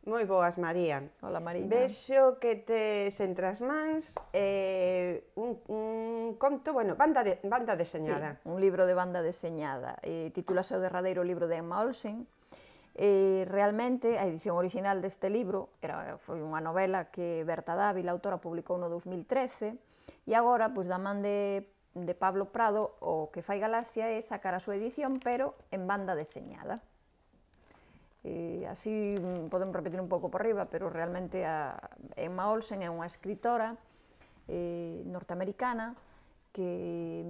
Moi boas, María. Hola, Marina. Vexo que tes entre as mans un conto, bueno, banda deseñada. Sí, un libro de banda deseñada. Titúlase O derradeiro libro de Emma Olsen. Realmente, a edición original deste libro foi unha novela que Berta Dávila, autora, publicou no 2013, e agora, pois, da man de Pablo Prado, o que fai Galaxia é sacar a súa edición, pero en banda deseñada. Así podemos repetir un pouco por riba, pero realmente Emma Olsen é unha escritora norteamericana que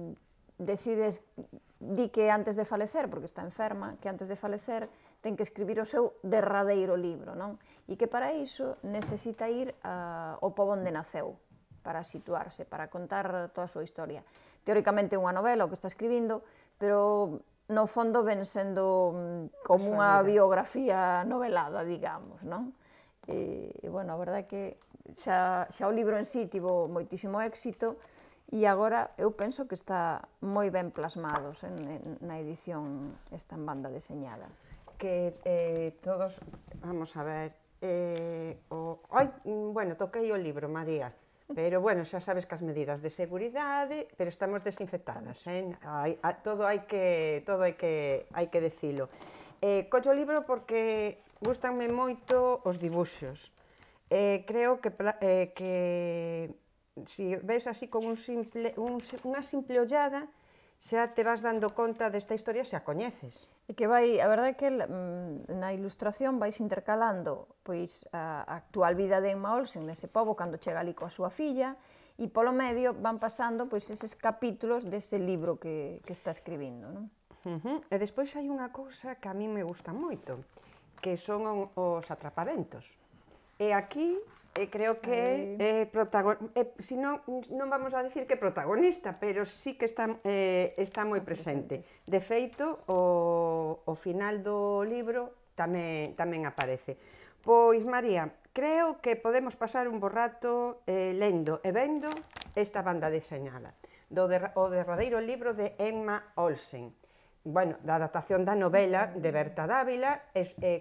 di que antes de falecer, porque está enferma, que antes de falecer ten que escribir o seu derradeiro libro, non? E que para iso necesita ir ao pobo onde naceu, para situarse, para contar toda a súa historia. Teóricamente é unha novela o que está escribindo, pero no fondo ven sendo como unha biografía novelada, digamos, non? E, bueno, a verdade é que xa o libro en sí tivo moitísimo éxito e agora eu penso que está moi ben plasmados na edición esta en banda deseñada. Que todos, vamos a ver, bueno, toquei o libro, María, pero, bueno, xa sabes que as medidas de seguridade, pero estamos desinfectadas, todo hai que dicilo. Collo o libro porque gustanme moito os dibuxos. Creo que se ves así con unha simple ollada, xa te vas dando conta desta historia, xa coñeces. E que a verdade é que na ilustración vais intercalando pois a actual vida de Emma Olsen nese pobo cando chega ali coa súa filla e polo medio van pasando pois eses capítulos dese libro que está escribindo, non? E despois hai unha cousa que a mí me gusta moito, que son os atrapaventos. E aquí creo que si non vamos a dicir que é protagonista, pero sí que está moi presente. De feito, o final do libro tamén aparece. Pois, María, creo que podemos pasar un bo rato lendo e vendo esta banda deseñada, o derradeiro libro de Emma Olsen. Bueno, da adaptación da novela de Berta Dávila,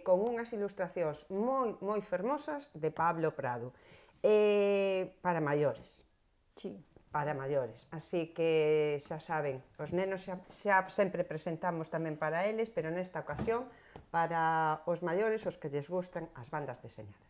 con unhas ilustracións moi fermosas de Pablo Prado. Para maiores. Sí. Para maiores. Así que xa saben, os nenos xa sempre presentamos tamén para eles, pero nesta ocasión para os maiores, os que lles gustan as bandas deseñadas.